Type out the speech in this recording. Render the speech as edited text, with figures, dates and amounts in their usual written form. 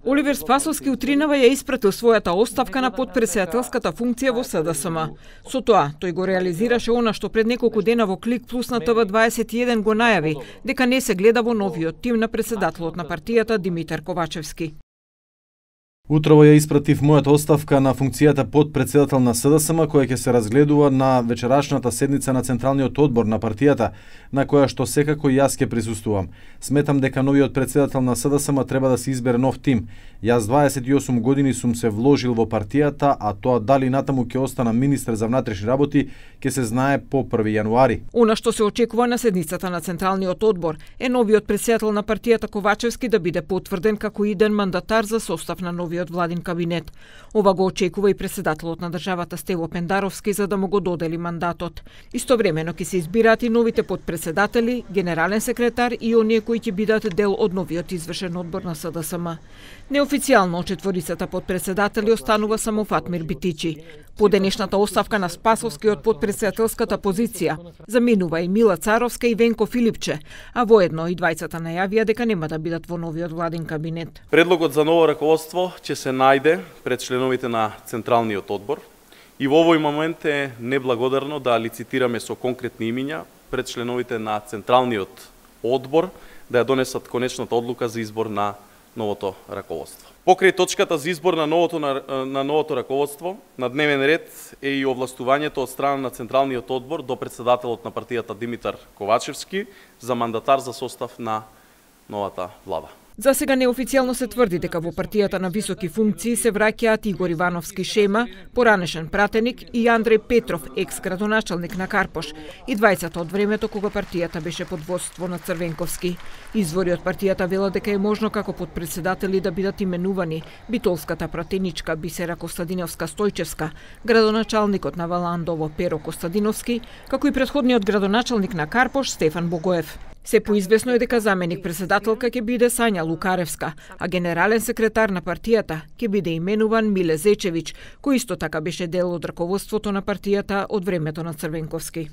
Оливер Спасовски утринава ја испратил својата оставка на потпредседателската функција во СДСМ. Со тоа, тој го реализираше она што пред неколку дена во Клик Плюс на ТВ21 го најави, дека не се гледа во новиот тим на председателот на партијата Димитар Ковачевски. Утрово ја испратив мојата оставка на функцијата потпредседател на СДСМ, која ќе се разгледува на вечерашната седница на Централниот одбор на партијата, на која што секако јас ќе присуствувам. Сметам дека новиот председател на СДСМ треба да се избере нов тим. Јас 28 години сум се вложил во партијата, а тоа дали натаму ќе остана министер за внатрешни работи, ќе се знае по 1 јануари. Она што се очекува на седницата на Централниот одбор е новиот председател на партијата Ковачевски да биде потврден како иден мандатар за состав на новиот владин кабинет. Ова го очекува и председателот на државата Стево Пендаровски за да му го додели мандатот. Истовремено ќе се избираат и новите потпредседатели, генерален секретар и оние кои ќе бидат дел од новиот извршен одбор на СДСМ. Неофицијално од четворицата потпредседатели останува само Фатмир Битичи. По денешната оставка на Спасовски од потпредседателската позиција заминува и Мила Царовска и Венко Филипче, а воедно и двајцата најавија дека нема да бидат во новиот владин кабинет. Предлогот за ново раководство ќе се најде пред членовите на Централниот одбор и во овој момент е неблагодарно да лицитираме со конкретни имиња пред членовите на Централниот одбор да ја донесат конечната одлука за избор на новото раководство. Покрај точката за избор на новото раководство, на дневен ред е и овластувањето од страна на Централниот одбор до председателот на партијата Димитар Ковачевски за мандатар за состав на новата влада. За сега неофицијално се тврди дека во партијата на високи функции се враќаат Игор Ивановски Шема, поранешен пратеник, и Андреј Петров, екс-градоначалник на Карпош, и двајцата од времето кога партијата беше под водство на Црвенковски. Извори од партијата велат дека е можно како подпредседатели да бидат именувани битолската пратеничка Бисера Костадиновска Стојчевска, градоначалникот на Валандово Перо Костадиновски, како и претходниот градоначалник на Карпош Стефан Богоев. Се поизвестно е дека заменик председателка ќе биде Сања Лукаревска, а генерален секретар на партијата ќе биде именуван Миле Зечевиќ, кој исто така беше дел од раководството на партијата од времето на Црвенковски.